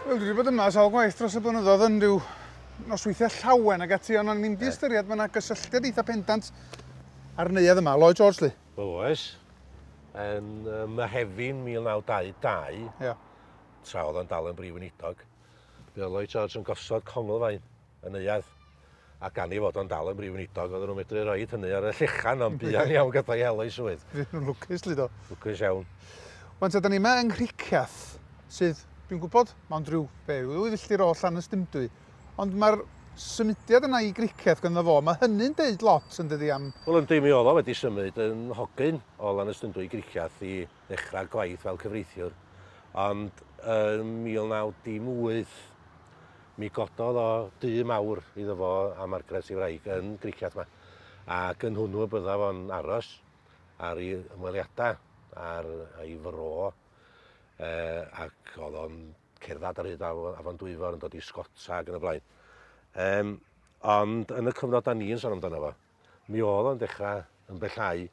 Wel, dwi wedi bod yma sawl gwaith dros y blynyddoedd yn rhyw nosweithiau llawen ag ati, ond o'n i'n di ystyried mae yna gysylltiad eitha pendant ar neuadd yma, Lloyd George, li. Wel, oes. Yn Mehefin 1922, tra oedd o'n dal yn brif weinidog, mi oedd Lloyd George yn gosod conglfaen y neuadd. A gan ei fod o'n dal yn brif weinidog, oedden nhw'n medru roid hynny ar y llechan, ond buan iawn gyda'i hel o'i swydd. Fuon nhw'n lwcus, li, do. Lwcus iawn. Wan ta, da ni yma yng Nghricieth, sydd, dwi'n gwybod, mond rhyw, be, rhyw ddwy filltir o Llanystumdwy. Ond mae'r symudiad yna i Gricieth ganddo fo, mae hynny'n deud lot, yn dydi, am... Wel, yndi, mi oedd o wedi symud yn hogyn o Lanystumdwy i Gricieth i ddechrau gwaith fel cyfreithiwr. Ond yn 1918, Mi gododd o dŷ mawr iddo fo a Margaret ei wraig yn Gricieth 'ma, ac yn hwnnw y bydda fo'n aros ar ei ymweliadau ar ei fro, ac oedd o'n cerdded ar hyd afon Dwyfor yn dod i sgota ac yn y blaen. Um, ond yn y cyfnod da ni'n sôn amdano fo, Mi oedd o'n dechrau ymbellhau,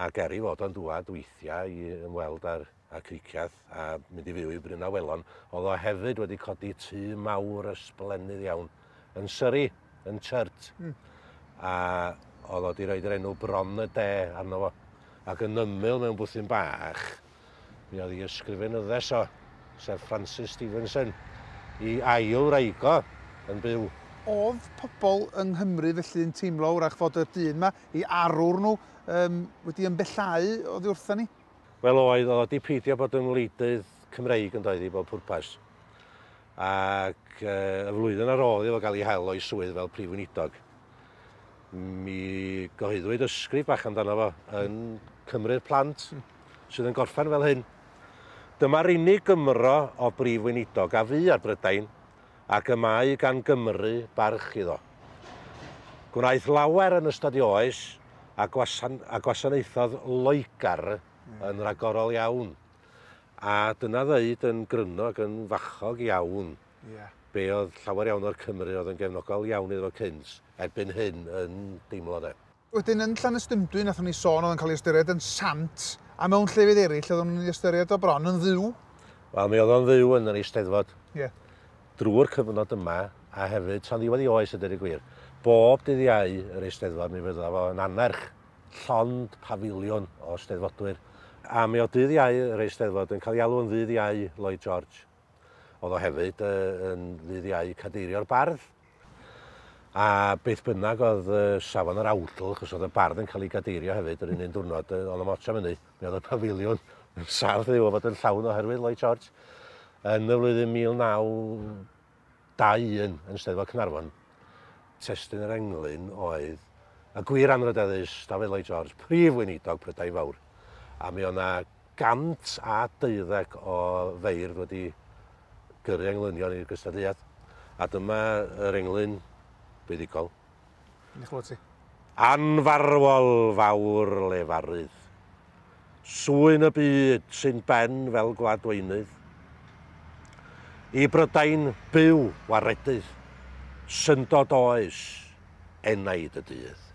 ac er ei fod o'n dŵad weithiau i ymweld â'r â Cricieth a mynd i fyw i Bryn Awelon, oedd o hefyd wedi codi tŷ mawr ysblennydd iawn yn Surrey, yn Churt. A oedd o wedi rhoid yr enw Bron y De arno fo. Ac yn ymyl mewn bwthyn bach, Mi oedd ei ysgrifenyddes o, sef Frances Stevenson, i ail wraig o, yn byw. Oedd pobl yng Nghymru felly yn teimlo wrach fod y dyn 'ma, eu arwr nhw, yym, wedi ymbellhau oddi wrtha ni? Wel oedd, oedd o 'di peidio bod yn wleidydd Cymreig yn doedd i bob pwrpas. Ac y flwyddyn ar ôl iddo fo gael ei hel o'i swydd fel Prif Weinidog, mi gyhoeddwyd ysgrif bach amdano fo yn Cymru'r Plant, sydd yn gorffen fel hyn. Dyma'r unig Gymro o Brif Weinidog a fu ar Brydain, ac y mae gan Gymru barch iddo. Gwnaeth lawer yn ystod ei oes, a, gwasan a gwasanaethodd Loegr yn ragorol iawn. A dyna ddeud yn gryno ac yn fachog iawn be oedd llawer iawn o'r Cymry oedd yn gefnogol iawn iddo fo cynt, erbyn hyn yn deimlo de. Wedyn yn Llanystumdwy nathon ni sôn oedd o'n cael ei ystyried yn sant, a mewn llefydd eraill oedden nhw'n ei ystyried o bron yn dduw. Wel mi oedd o'n dduw yn yr Eisteddfod. Ie. Drwy'r cyfnod yma, a hefyd tan ddiwedd ei oes a deud y gwir. Bob dydd Iau yr Eisteddfod mi fydda fo yn annerch llond pafiliwn o Steddfodwyr. A mi oedd dydd Iau yr Eisteddfod yn cael ei alw yn ddydd Iau Lloyd George. Oedd o hefyd yn ddydd Iau Cadeirio'r Bardd. A beth bynnag oedd safon yr awdl, achos oedd y bardd yn cael ei gadeirio hefyd yr un un diwrnod, oedd o'm ots am hynny. Mi oedd y pafiliwn yn saff ddiw o fod yn llawn oherwydd Lloyd George. Yn y flwyddyn 1921 yn Steddfod Caernarfon, testun yr englyn oedd y gwir anrhydeddus Dafydd Lloyd George, Prif Weinidog Prydain Fawr. A mi oedd 'na 112 o feirdd wedi gyrru englynion i'r gystadleuaeth. A dyma yr englyn buddugol. Yn eich ti. Anfarwol fawr lefarydd. Swyn y byd sy'n ben fel gwladweinydd. I Brydain byw waredydd. Syndod oes, enaid y dydd.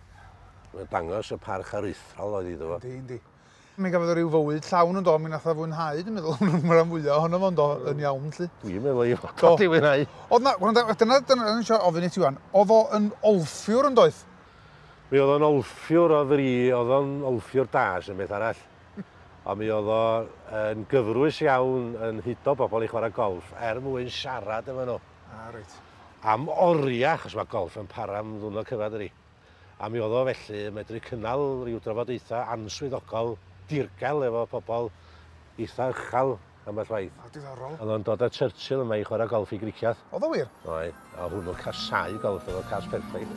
Mae'n dangos y parch aruthrol oedd iddo fo. Yndi, yndi. Mi gafodd o ryw fywyd llawn yn do, mi nath o fwynhau, dwi'n meddwl, y rhan fwyaf ohono fo yndo, yn iawn 'lly. Dwi'n meddwl ei fod o 'di fwynhau. Oedd 'na, gwranda, dyna, dyna o'n i eisiau ofyn i ti wan, oedd o yn olffiwr yn doedd? Mi oedd o'n olffiwr o fri, oedd o'n olffiwr da, sy'n beth arall. Ond mi oedd o yn gyfrwys iawn yn hudo bobl i chwarae golff er mwyn siarad efo nhw. Ah, reit. Am oriau, achos mae golff yn para am ddwrnod cyfan, dydi. A mi oedd o felly yn medru cynnal rhyw drafodaethau answyddogol dirgel efo pobl eitha uchel ambell waith. O, diddorol. Oedd o'n dod â Churchill yma i chwarae golff i Gricieth. Oedd o wir? Oedd. A hwnnw'n casáu golff, oedd o'n cas perffaith.